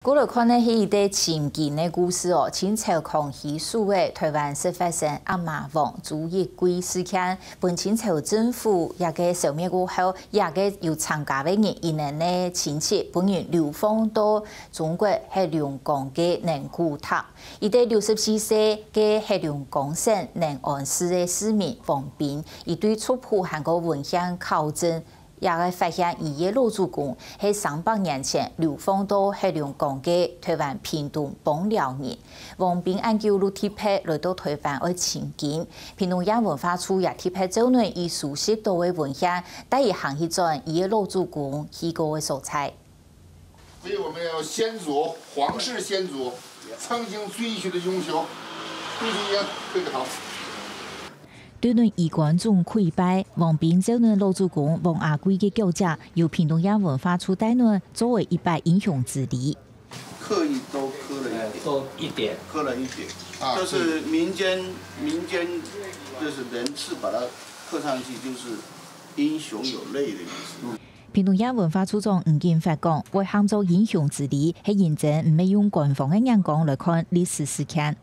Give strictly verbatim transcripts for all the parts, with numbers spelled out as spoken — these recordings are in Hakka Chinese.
過來看个係一個尋根个故事哦。清朝康熙時節，臺灣識發生鴨嫲王朱一貴事件，分清朝政府這個消滅過後，這個有參加个人，佢等个親戚分人流放到中國黑龍江个寧古塔。一個六十四歲个黑龍江省寧安市个市民王斌，佢對族譜還過文獻考證， 也个發現佢个老祖公係三百年前流放到黑龍江个臺灣屏東枋寮人。王斌恁久就特別來到臺灣愛尋根，屏東縣文化處也特別招攬佢收集到个文獻，帶佢行去轉佢个老祖公去過个所在。所以我們要先祖，皇室先祖，曾經追隨的英雄，朱一貴，這個好。 對等衣冠總跪拜，王斌招等老祖公王阿貴个腳跡，由屏東縣文化處帶等做為一擺英雄之禮。刻意都刻了一点，多一点。刻了一点，啊就是民间民间就是人字把它刻上去，就是英雄有泪的意思。屏東縣文化處長吳景發講，會喊做英雄之禮，係認真，毋係用官方个眼光來看歷史事件。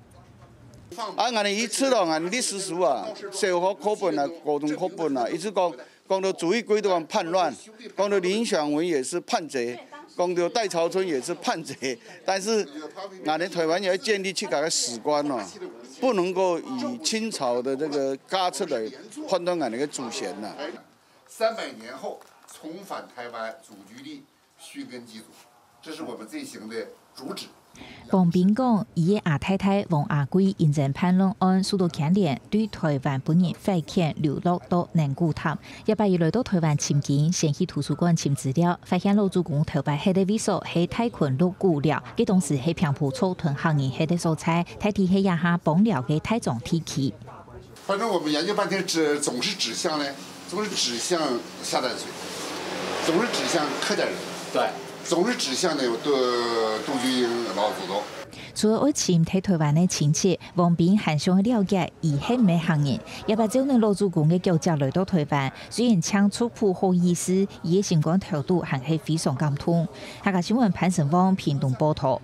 啊，𠊎等一直咯，𠊎等歷史書啊，小學課本啊，高中課本啊，一直講，講到朱一貴都講叛亂，講到林選文也是叛賊，講到戴潮春也是叛賊，但是𠊎等臺灣也要建立自家个史觀咯，不能夠以清朝的這個家族來判斷𠊎等个祖先呐。三百年后重返台湾，祖居地，寻根祭祖，这是我们这一行的主旨。王斌講，佢个阿太太王阿貴因爭叛亂案受到牽連，對臺灣分人罰遣流落到寧古塔。這擺佢來到臺灣尋根，先去圖書館尋資料，發現老祖公頭擺歇个位所係大崑鹿古寮，該當時係平埔族同客人歇个所在，大體係這下枋寮个大庄地區。 反正我们研究半天，指总是指向呢，总是指向下淡水，总是指向客家人，对，总是指向呢杜杜居英老祖宗。除了愛尋在臺灣个親戚，王斌還想愛了解佢係毋係客人。這擺照等老祖公个腳跡來到臺灣，雖然淨族譜好意思，佢个心肝頭肚還係非常感動。客家新聞潘成旺屏東報導。